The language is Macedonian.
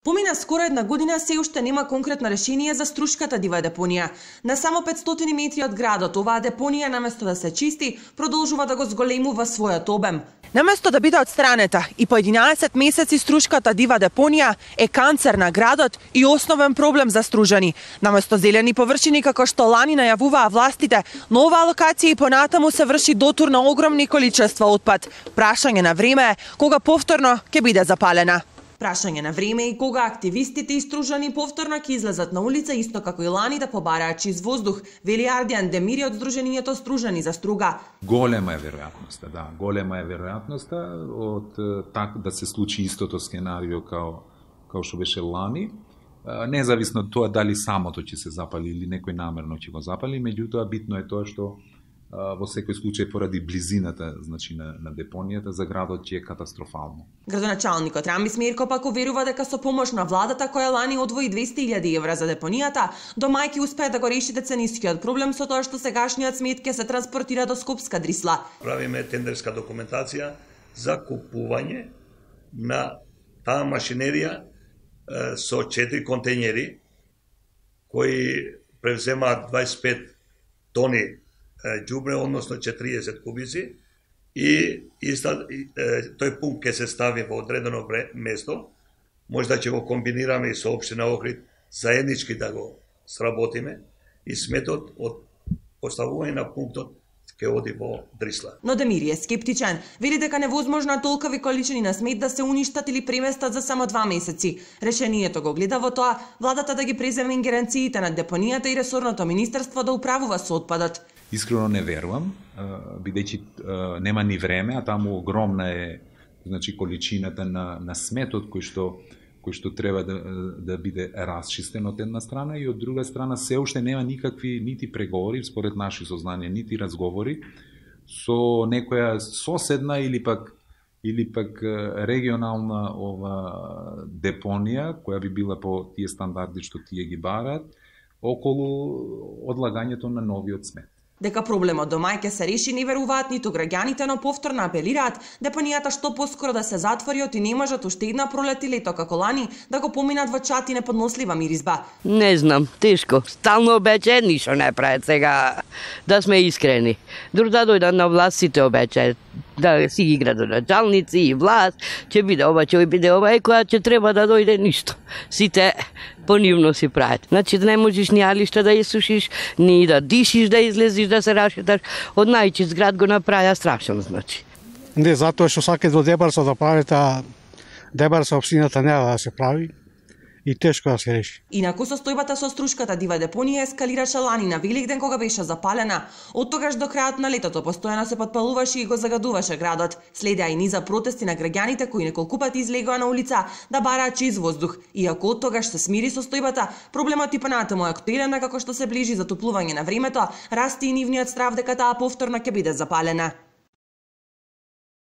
Помина скоро една година, се уште нема конкретно решение за Струшката дива депонија. На само 500 метри од градот, оваа депонија наместо да се чисти, продолжува да го зголемува својот обем. Наместо да биде отстранета и по 11 месеци Струшката дива депонија е канцер на градот и основен проблем за стружани. Наместо зелени површини како што лани најавуваа властите, на оваа локација и понатаму се врши дотур на огромни количества отпад. Прашање на време е кога повторно ќе биде запалена. Прашање на време и кога активистите и стружани повторно ќе излезат на улица исто како и лани да побараат чист воздух, вели Ардијан Демири од Сдруженијето Стружани за струга. Голема е веројатноста, да, голема е веројатноста од да се случи истото сценарио као што беше лани. Независно од тоа дали самото ќе се запали или некој намерно ќе го запали, меѓутоа битно е тоа што во секој случај поради близината, значи на депонијата, за градот ќе е катастрофално. Градоначалникот Рамис Мерко пак уверува дека со помош на владата која лани одвои 200.000 евра за депонијата, до мај ќе успее да го реши деценискиот проблем со тоа што сегашниот смет ќе се транспортира до Скопска Дрисла. Правиме тендерска документација за купување на таа машинерија со 4 контејнери кои превземаат 25 тони ѓубре, односно 40 кубици, и тој пункт ќе се стави во одредено место. Може да ќе го комбинираме и со општина Охрид, заеднички да го сработиме, и сметот од поставување на пунктот ќе оди во Дрисла. Но Демири е скептичен. Вели дека невозможно толкови количини на смет да се уништат или преместат за само 2 месеци. Решението го гледа во тоа владата да ги преземе ингеренциите на депонијата и ресорното министерство да управува со отпадот. Искрено не верувам, бидејќи нема ни време, а таму огромна е, значи, количината на сметот кој што треба да биде расчистен од една страна, и од друга страна се уште нема никакви нити преговори, според наши сознанија, нити разговори со некоја соседна или пак регионална депонија која би била по тие стандарди што тие ги бараат околу одлагањето на новиот смет. Дека проблемот до мај ќе се реши не веруваат ниту граѓаните, но повторно апелираат депонијата што поскоро да се затвори и не можат уште една пролет и лето како лани да го поминат во чат и неподнослива миризба. Не знам, тешко. Стално обечаат, ништо не прават сега, да сме искрени. Друг да дојдат на власт, сите обечаат да си ги градоначалници и власт, ќе биде ова, ќе биде ова, и која ќе треба да дојде ништо. Сите понивно си прават. Значи да не можеш ни алишта да исушиш, ни да дишиш, да излезиш, да се рашеташ. Од најчист град го направија страшно, значи. Не, затоа што сакаат во Дебарса да прават, а Дебарса општината нема да се прави и тешко да се реши. Инаку состојбата со Струшката дива депонија ескалираше лани на Великден кога беше запалена. Од тогаш до крајот на летото постојано се подпалуваше и го загадуваше градот. Следеа и низа протести на граѓаните кои неколку пати излегоа на улица да бараат чист воздух. Иако од тогаш се смири состојбата, проблемот и понатаму е актуелен, како што се ближи затоплување на времето, расте и нивниот страв дека таа повторно ќе биде запалена.